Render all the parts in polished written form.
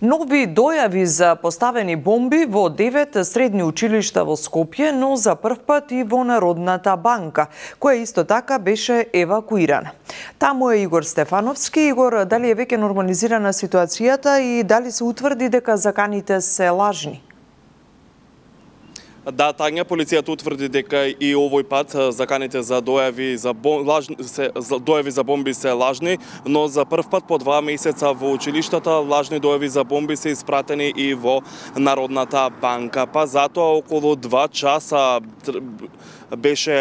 Нови дојави за поставени бомби во 9 средни училишта во Скопје, но за прв пат и во Народната банка, која исто така беше евакуирана. Таму е Игор Стефановски. Игор, дали е веќе нормализирана ситуацијата и дали се утврди дека заканите се лажни? Да, Тања, полицијата утврди дека и овој пат заканите за дојави за бомби се лажни, но за прв пат по 2 месеца во училиштата лажни дојави за бомби се испратени и во Народната банка. Па затоа околу 2 часа беше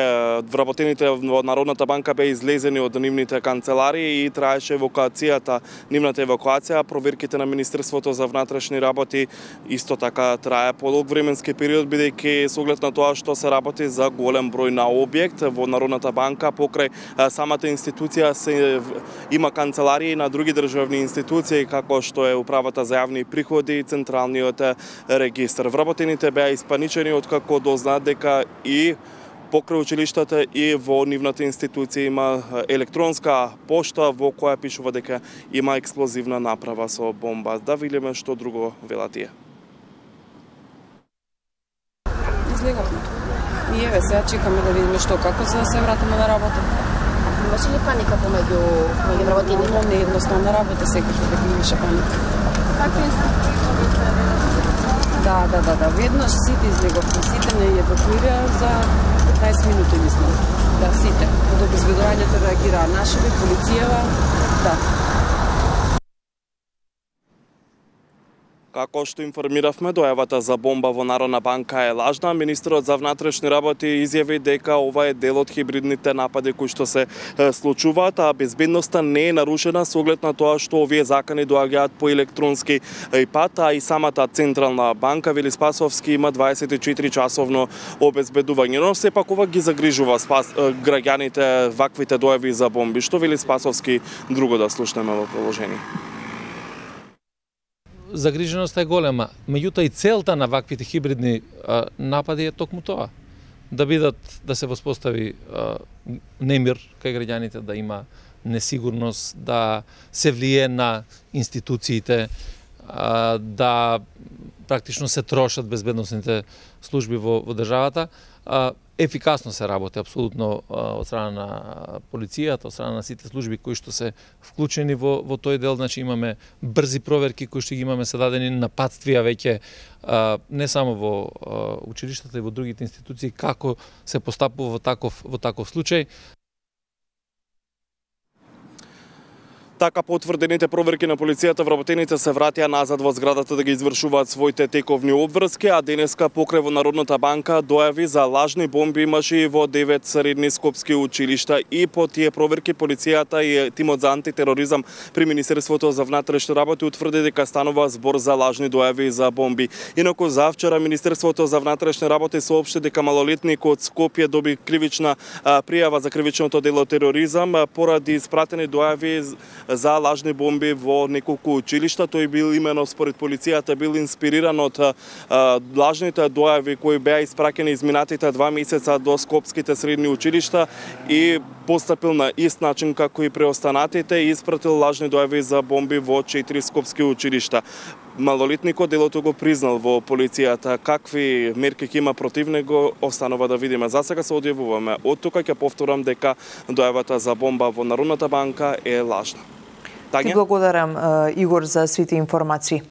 вработените во Народната банка беа излезени од нивните канцеларии и траеше евакуацијата, нивната евакуација. Проверките на Министерството за внатрешни работи исто така трае подолг временски период, бидејќи со оглед на тоа што се работи за голем број на објект во Народната банка, покрај самата институција има канцеларии на други државни институции, како што е Управата за јавни приходи и Централниот регистар. Вработените беа испаничени откако дознаат дека и покрај училиштата и во нивната институција има електронска пошта во која пишува дека има експлозивна направа со бомба. Да видиме што друго велат тие. Излеговме. И еве сега чекаме да видиме што како за да се вратиме на работа. Имаше ли паника помеѓу вработените? Не едноставна работа, секој дека имаше паника. Какви инструкции добивте? Да. Веднаш сите излеговме, сите не евакуираа за 15 минути, мислам. Да, сите. Од обезбедувањето реагираа нашиве, полицијава, да. Како што информиравме, дојавата за бомба во Народна банка е лажна. Министерот за внатрешни работи изјави дека ова е дел од хибридните напади кои што се случуваат, а безбедноста не е нарушена со оглед на тоа што овие закани доаѓаат по електронски пат, а и самата Централна банка, вели Спасовски, има 24 часовно обезбедување. Но сепак ова ги загрижува граѓаните ваквите дојави за бомби. Што вели Спасовски, друго да слушнеме во продолжение. Загриженоста е голема, меѓутоа и целта на ваквите хибридни напади е токму тоа. Да се воспостави немир кај граѓаните, да има несигурност, да се влие на институциите, да практично се трошат безбедносните служби во државата. Ефикасно се работи апсолутно од страна на полицијата, од страна на сите служби кои што се вклучени во тој дел. Значи имаме брзи проверки кои што ги имаме се дадени напатствија веќе не само во училиштата и во другите институции како се постапува во таков случај. Така, по утврдените проверки на полицијата, вработените се вратија назад во зградата да ги извршуваат своите тековни обврски, а денеска покрај во Народната банка дојави за лажни бомби имаше и во 9 средни скопски училишта. И по тие проверки полицијата и тимот за антитероризам при Министерството за внатрешни работи утврди дека станува збор за лажни дојави за бомби. Инаку завчера Министерството за внатрешни работи соопшти дека малолетник од Скопје доби кривична пријава за кривичното дело тероризам поради испратени дојави за лажни бомби во неколку училишта. Тој бил имено според полицијата бил инспириран од лажните дојави кои беа испраќени изминатите 2 месеца до скопските средни училишта и постапил на ист начин како и преостанатите и испратил лажни дојави за бомби во 4 скопски училишта. Малолетникот делото го признал во полицијата. Какви мерки ќе има против него, останува да видиме. За сега се одјавуваме. Од тука ќе повторам дека дојавата за бомба во Народната банка е лажна. Ти благодарам, Игор, за сите информации.